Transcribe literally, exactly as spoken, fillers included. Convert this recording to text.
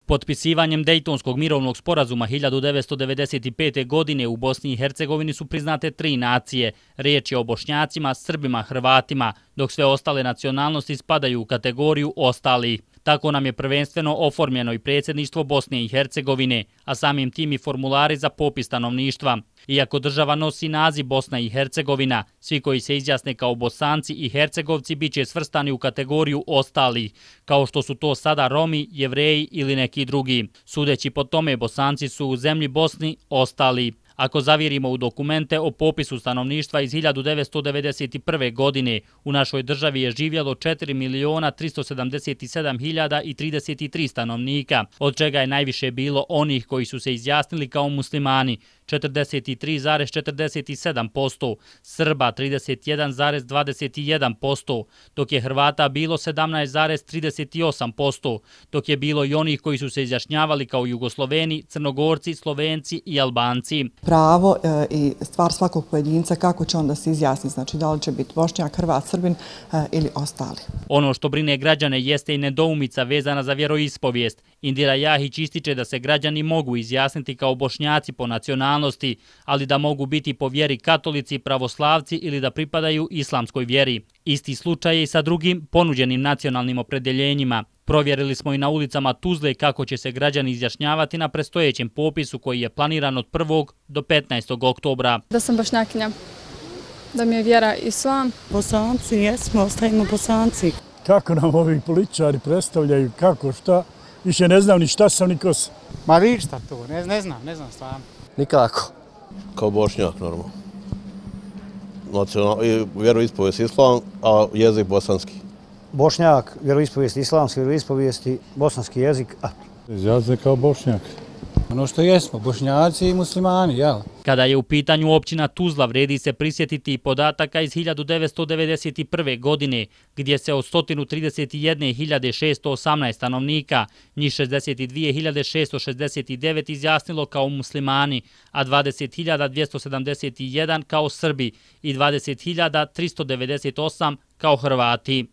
Potpisivanjem Dejtonskog mirovnog sporazuma hiljadu devetsto devedeset pete. godine u Bosni i Hercegovini su priznate tri nacije. Riječ je o Bošnjacima, Srbima, Hrvatima, dok sve ostale nacionalnosti spadaju u kategoriju ostalih. Tako nam je prvenstveno oformljeno i predsjedništvo Bosne i Hercegovine, a samim tim i formulari za popis stanovništva. Iako država nosi naziv Bosna i Hercegovina, svi koji se izjasne kao Bosanci i Hercegovci bit će svrstani u kategoriju ostalih, kao što su to sada Romi, Jevreji ili neki drugi. Sudeći po tome, Bosanci su u zemlji Bosni ostali. Ako zavirimo u dokumente o popisu stanovništva iz hiljadu devetsto devedeset prve. godine, u našoj državi je živjelo četiri miliona tristo sedamdeset sedam hiljada trideset tri stanovnika, od čega je najviše bilo onih koji su se izjasnili kao muslimani, četrdeset tri zarez četrdeset sedam posto, Srba trideset jedan zarez dvadeset jedan posto, dok je Hrvata bilo sedamnaest zarez trideset osam posto, dok je bilo i onih koji su se izjašnjavali kao Jugosloveni, Crnogorci, Slovenci i Albanci. Pravo e, i stvar svakog pojedinca kako će onda se izjasniti, znači da li će biti Bošnjak, Hrvat, Srbin e, ili ostali. Ono što brine građane jeste i nedoumica vezana za vjeroispovijest. Indira Jahić ističe da se građani mogu izjasniti kao Bošnjaci po nacionalnosti, ali da mogu biti po vjeri katolici, pravoslavci ili da pripadaju islamskoj vjeri. Isti slučaj je i sa drugim ponuđenim nacionalnim opredjeljenjima. Provjerili smo i na ulicama Tuzle kako će se građani izjašnjavati na predstojećem popisu koji je planiran od prvog do petnaestog oktobra. Da sam Bošnjakinja, da mi je vjera islam. Bosanci, jesmo, ostajemo Bosanci. Kako nam ovi političari predstavljaju, kako, šta, više ne znam ni šta sam, ni ko sam. Ma ništa to, ne, ne znam, ne znam stvarno. Nikako. Kao Bošnjak, normalno. Nacional, vjeroispovijest islam, a jezik bosanski. Bošnjak, vjeroispovijest islamski, vjeroispovijesti, bosanski jezik. Izjasne kao Bošnjak. Ono što jesmo, Bošnjaci i muslimani, jel? Kada je u pitanju općina Tuzla, vredi se prisjetiti i podataka iz hiljadu devetsto devedeset prve. godine, gdje se od sto trideset jedne hiljade šesto osamnaest stanovnika, njih šezdeset dvije hiljade šesto šezdeset devet izjasnilo kao muslimani, a dvadeset hiljada dvjesto sedamdeset jedan kao Srbi i dvadeset hiljada tristo devedeset osam kao Hrvati.